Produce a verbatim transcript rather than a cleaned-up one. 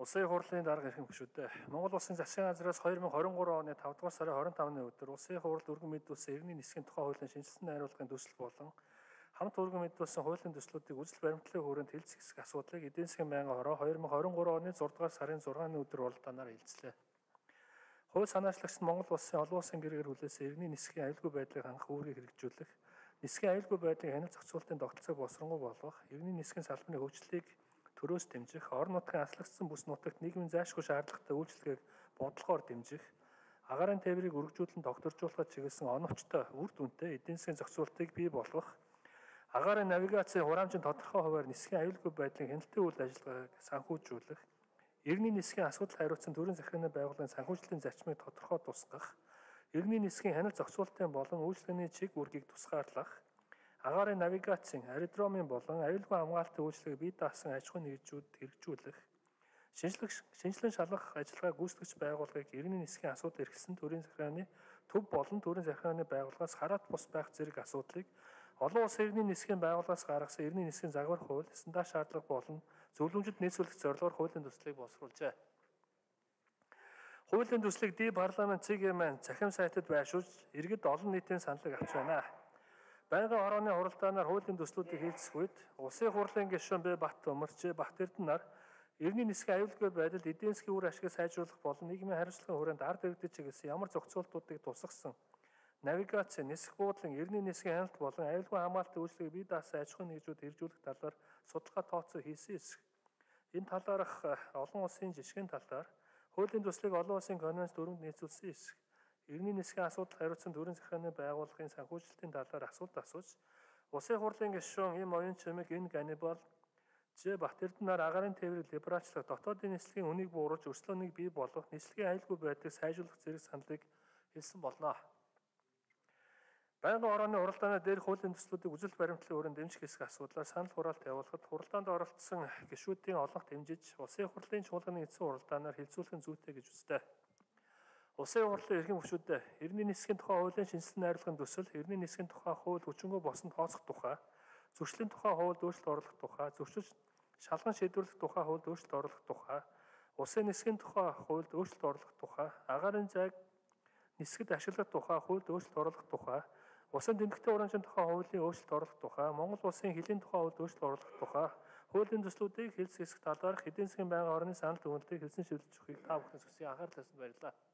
Улсын хурлын дарга ирэх гүшүүдээ. Монгол Улсын засгийн газраас хоёр мың хорин гурав оны тавдугаар сарын хорин тавны өдөр Улсын хурал өргөн мэдүүлсэн иргэний нисхийн тухай хуулийн шинжилсэн найруулгын төсөл болон хамт өргөн мэдүүлсэн хуулийн төслүүдийг үзэл баримтлалын хүрээнд хэлцэх хэсэг асуудлыг эдийн засгийн байнгын хороо хоёр мың хорин гурав оны зургаадугаар сарын зургааны өдөр уралдаанаар хэлцлээ. Хууль санаачлагч нь Монгол Улсын олон улсын гэрээр хүлээсэн иргэний нисхийн аюулгүй байдлыг хангах үүргийг хэрэгжүүлэх, нисхийн аюулгүй байдлын хяналт зохицуулалтын тогтолцоог босронгуй болгох, иргэний нисхийн салбарын хөгжлийг төрөөс дэмжих, орон нутгийн аслагдсан бүс нутагт нийгмийн зайлшгүй шаардлагатай үйлчлэгийг бодлогоор дэмжих, агаарын тээврийг өргөжүүлэн тогтворжуулахад чиглэсэн оновчтой, үр дүнтэй эдийн засгийн зохицуулалтыг бий болгох, агаарын навигацийн хураамжийн тодорхой хувиар нисхийн аюулгүй байдлын хяналтын үйл ажиллагааг санхүүжүүлэх, иргэний нисхийн асуудал хариуцсан төрийн захиргааны байгууллагын санхүүжлийн зарчмыг тодорхой тусгах, иргэний нисхийн хяналт зохицуулалтын болон үйлчлэгээний чиг үүргийг тусгаарлах, агаарын навигацийн, аэродромын болон аюулгүй хамгаалтын үйлчлэгийг бие даасан аж ахуйн нэгжүүд хэрэгжүүлэх, шинжилэн шалгах ажиллагаа гүйцэтгэгч байгууллагыг иргэний нисхийн асуудал эрхэлсэн төрийн захиргааны төв болон төрийн захиргааны байгууллагаас хараат бус байх зэрэг асуудлыг олон улсын иргэний нисхийн байгууллагаас гаргасан иргэний нисхийн загвар хууль, стандарт шаардлага болон зөвлөмжөд нийцүүлэх зорилгоор хуулийн төслийг боловсруулжээ. Хуулийн төслийг ди парламент ЦГМ захим сайтад байршуулж иргэд олон нийтийн саналыг авч байна. Байнгын хорооны хуралдаанаар хуулийн төслүүдийг хэлцэх үед Улсын хурлын гишүүн Б. Бат Өмөр, Ж. Бат Эрдэнэ нар иргэний нисхийн аюулгүй байдалд эдийн засгийн үр ашгийг сайжруулах болон нийгмийн хариуцлагын хүрээнд ард иргэдэд чиглэсэн ямар зохицуултуудыг тусгасан навигац, нисэх буудлын, иргэний нисхийн хяналт болон аюулгүй хамгаалтын үйлчлэгийг бие даасан аж ахуйн нэгжүүд хэрэгжүүлэх талаар судалгаа тооцоо хийсэн эсэх. Энэ талаарх олон улсын жишгийн талаар хуулийн төслийг олон улсын конвенц дүрмэнд нийцүүлсэн эсэх. Иргэний нисхийн асуудал хариуцсан төрийн захиргааны байгууллагын санхүүжилтийн талаар асуулт асууж, Улсын хурлын гишүүн Им Оюун Чимэг, Н. Ганнибал, Ж. Бат Эрдэнэ нар агаарын тээврийг либералчлах, дотоодын нислэгийн үнийг бууруулж өрсөлдөөнийг бий болгох, нислэгийн аюулгүй байдлыг сайжруулах зэрэг саналыг хэлсэн болно. Байнгын хорооны хуралдааны дээрх хуулийн төслүүдийг үзэл баримтлалын хүрээнд дэмжих хэсэг асуудлаар санал хураалт явуулахад хуралдаанд оролцсон гишүүдийн олонх дэмжиж, Улсын хурлын чуулганы эцсийн хуралдаанаар хэлцүүлэх нь зүйтэй гэж үздэг. Улсын хурлын эрхэм гишүүдээ иргэний нисхийн тухай хуулийн шинжилсэн найруулгын төсөл, иргэний нисхийн тухай хууль хүчингү босон тооцох тухай, зөрчлийн тухай хуульд өөрчлөлт оруулах тухай, зөрчил шалган шийдвэрлэх тухай хуульд өөрчлөлт оруулах тухай, улсын нисхийн тухай хуульд өөрчлөлт оруулах тухай, агаарын зайг нисгэд ашиглах тухай хуульд өөрчлөлт оруулах тухай, улсын тэмдэгтэй хураамжийн тухай хуулийн өөрчлөлт оруулах тухай, Монгол улсын хилийн тухай хуульд өөрчлөлт оруулах тухай, хуулийн төслүүдийг хэлцэх хэсэг талаарх эдийн засгийн байнгын хорооны санал дүгнэлтийг хэлсэн шийдвэрлэж өгөхийг та бүхэн зөвсөн анхаарал татсанд баярлалаа.